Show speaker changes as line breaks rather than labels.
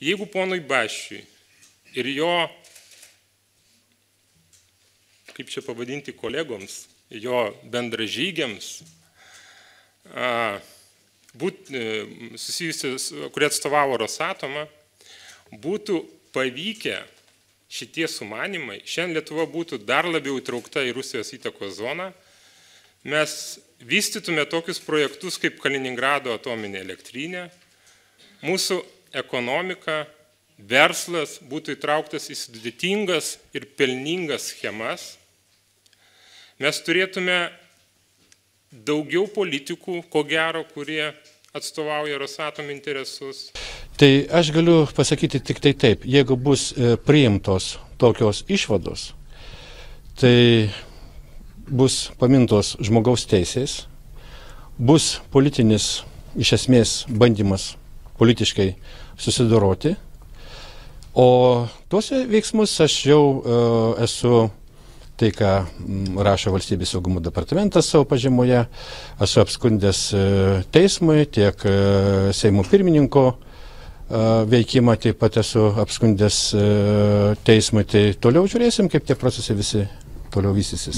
Jeigu ponui Baščiui ir jo, kaip čia pavadinti, kolegoms, jo bendražygiams, susijusius, kurie atstovavo Rosatomą, būtų pavykę šitie sumanimai, šiandien Lietuva būtų dar labiau įtraukta į Rusijos įtakos zoną, mes vystytume tokius projektus kaip Kaliningrado atominė elektrinė, mūsų ekonomika, verslas būtų įtrauktas į sudėtingas ir pelningas schemas, mes turėtume daugiau politikų, ko gero, kurie atstovauja Rosatom interesus.
Tai aš galiu pasakyti tik tai taip, jeigu bus priimtos tokios išvados, tai bus pamintos žmogaus teisės, bus politinis, iš esmės, bandymas politiškai susidoroti, o tuose veiksmus aš jau esu, tai ką rašo Valstybės saugumo departamentas savo pažymoje, esu apskundęs teismui, tiek Seimo pirmininko veikimą taip pat esu apskundęs teismui, tai toliau žiūrėsim, kaip tie procesai visi toliau vystysis.